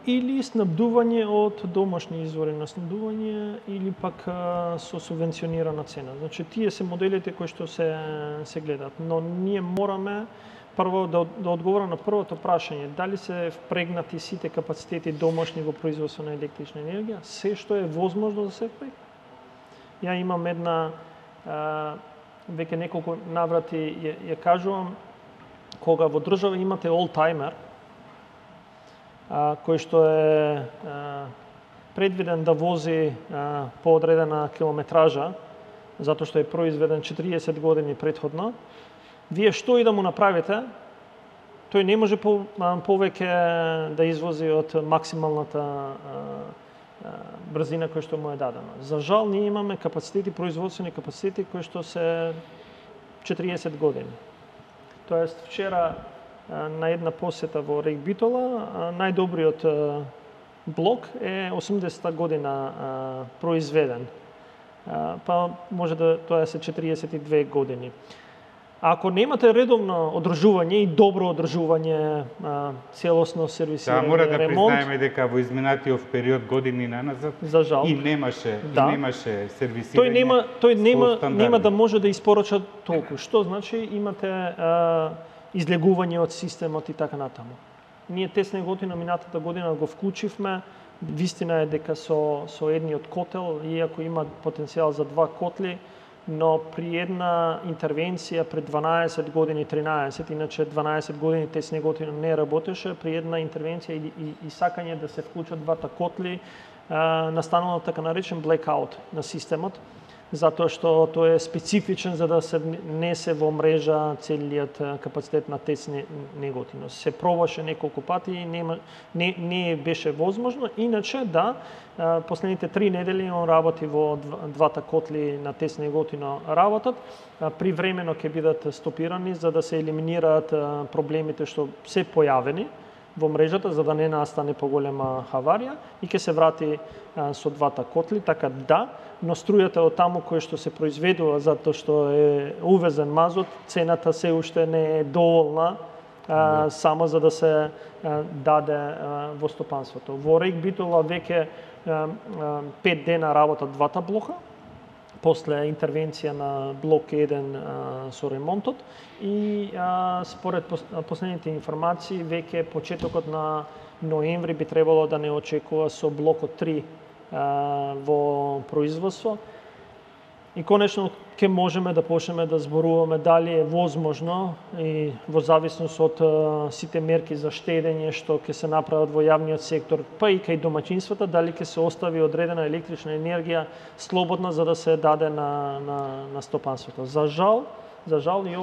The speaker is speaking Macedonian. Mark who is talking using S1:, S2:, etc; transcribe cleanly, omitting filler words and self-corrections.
S1: или снабдување од домашни извори на снабдување или пак со субвенционирана цена. Значи тие се моделите кои што се гледаат, но ние мораме прво да одговора на првото прашање, дали се впрегнати сите капацитети домашни во производство на електрична енергија, се што е возможно да се впрегне. Ја имам една веќе неколку наврати ја кажувам, кога во држава имате олтаймер, кој што е предвиден да вози по одредена километража, затоа што е произведен 40 години претходно, вие што и да му направите, тој не може повеќе да извози од максималната брзина која што му е дадена. За жал, ние имаме капацитети, производствени капацитети кои што се 40 години. Тоест, вчера на една посета во Рек Битола, најдобриот блок е 80-та година произведен. Па може да тоа се 42 години. Ако немате редовно одржување и добро одржување, целосно сервисирање, ремонт...
S2: мора да признаеме дека во изминатиот период години наназад
S1: за жал,
S2: и немаше сервисирање.
S1: Тој нема да може да испорача толку. Што значи имате излегување од системот и така натаму. Ние тесна готина минатата година го вклучивме. Вистина е дека со едниот котел, иако има потенцијал за 2 котли, но при една интервенција пред 12 години, 13, иначе 12 години тесна готина не работеше, при една интервенција и сакање да се вклучат двата котли, настанува така наречен blackout на системот, затоа што тој е специфичен за да се несе во мрежа целиот капацитет на тесна неготина. Се пробаше неколку пати и не беше возможно, иначе да, последните 3 недели он работи во двата котли на тесна неготина работат, привремено ќе бидат стопирани за да се елиминираат проблемите што се појавени во мрежата за да не настане поголема хаварија и ќе се врати со двата котли, така да, но струјата од таму кој што се произведува затоа што е увезен мазот, цената се уште не е доволна само за да се даде во стопанството. Во Рек Битола веќе 5 дена работат двата блока, после интервенција на блок 1 со ремонтот и според последните информации веќе почетокот на ноември би требало да не очекува со блокот 3 во производство. И конечно ќе можеме да почнеме да зборуваме дали е возможно и во зависност од сите мерки за штедење што ќе се направат во јавниот сектор, па и кај домаќинствата, дали ќе се остави одредена електрична енергија слободна за да се даде на стопанството. За жал и